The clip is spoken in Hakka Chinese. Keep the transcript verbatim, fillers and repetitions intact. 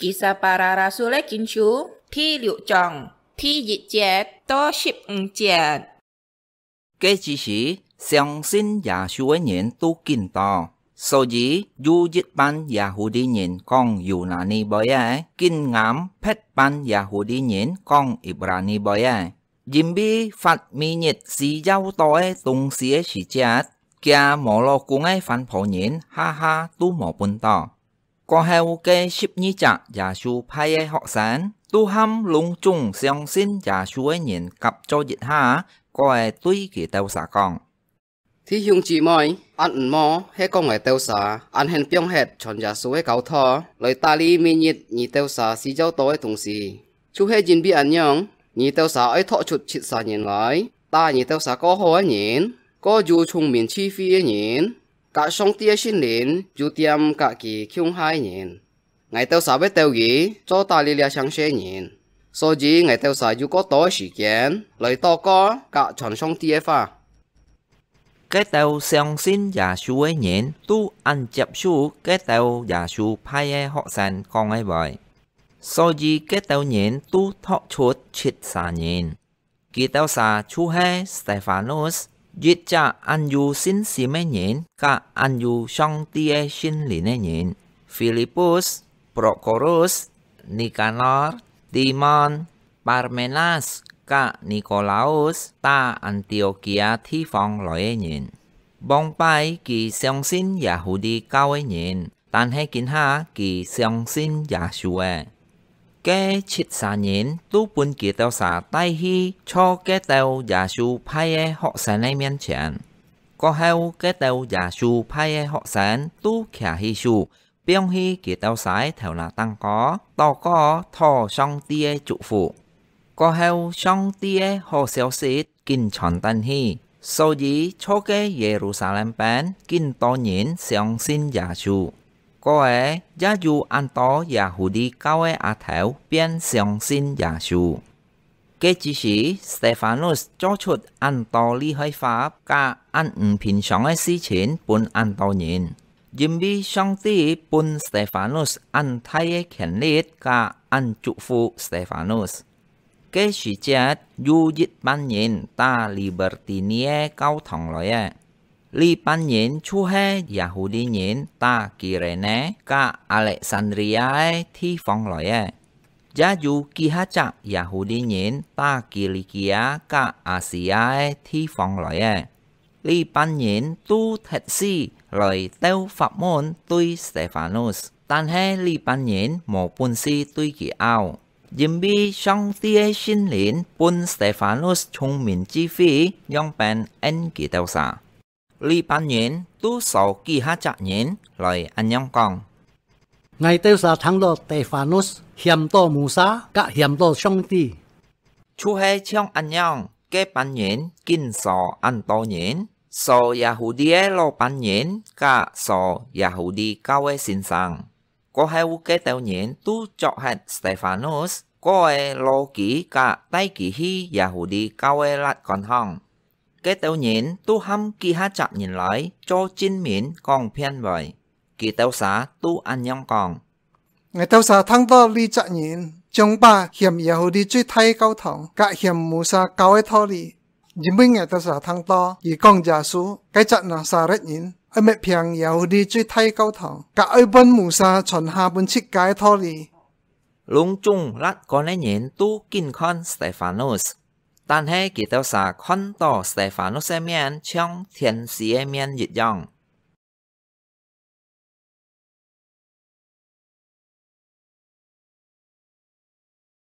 Kisah Para Rasul-é Kinsú第六章第一節到十五節。該之時，相信耶穌个人都緊多，所以有一半耶戶利人講猶大利話个，緊啱別半耶戶利人講希伯來話个。 因為發每日需要到个東西个時節，厥無老公个番婆人下下都無分到。過後个十二隻耶穌派个學生，都喊攏總相信耶穌个人合作一下，過來對佢兜儕講： 弟兄姊妹，恁毋好係講𠊎兜儕恁肯放忒傳耶穌个教導，來打理每日你兜儕需要到个東西。就係因為恁樣，你兜儕愛擇出七儕人來，打你兜儕較好个人，較有聰明智慧个人，佮上帝个聖靈有點佮佢共下个人。𠊎兜儕會鬥佢做打理這成世人，所以𠊎兜儕有較多个時間來禱告佮傳上帝个話。 該兜相信耶穌个人都恁接受該兜耶穌派个學生講个話，所以該兜人都擇出七儕人。佢兜儕就係Stefanus，一隻恁有信心个人，佮恁有上帝个聖靈个人；Filipus、Prokorus、Nikanor、Timon、Parmenas佮Nikolaus，打安提阿基亞地方來个人。往擺佢相信耶戶利教个人，但係今下佢相信耶穌了。該七儕人都分佢兜儕帶去坐該兜耶穌派个學生个面前。過後，該兜耶穌派个學生都擎起手， 放去佢兜儕个頭那頂高，禱告討上帝个祝福。過後，上帝个好消息緊傳轉去，所以坐該耶路撒冷邊緊多人相信耶穌。過後，也有恁多耶戶利教个阿頭變相信耶穌。 該之時，Stefanus做出恁多厲害法佮恁毋平常个事情分恁多人，因為上帝分Stefanus恁大个權力佮恁祝福Stefanus。該時節，有一班人打Libertini个教堂來了。 這班人就係耶戶利人打基列呢佮Alexandria个地方來个，也有幾下隻耶戶利人打基里基亞佮亞西亞个地方來个。這班人都特使來鬥法門對Stefanus，但係這班人無本事對佢拗，因為上帝个聖靈分Stefanus聰明智慧，樣般應佢兜儕。 這班人都搜幾下隻人來恁樣講：「𠊎兜儕聽到Stefanus險到Musa佮險到上帝。」就係像恁樣，該班人緊搜恁多人，搜耶戶利个老班人佮搜耶戶利教个先生。 過後該兜人都捉核Stefanus，過後摎佢佮帶佢去耶戶利教个律官項。該兜人都喊幾下隻人來做證明講騙話。佢兜儕都恁樣講：「𠊎兜儕聽到這隻人，將把嫌耶戶利最大个教堂，佮嫌Musa教个道理， 因為𠊎兜儕聽到佢講耶穌，該隻拿撒勒人，愛搣平耶戶利最大个教堂，佮愛分Musa傳下分自家个道理。」攏總律官个人都緊看Stefanus，但係佢兜儕看到Stefanus个面像天使个面一樣，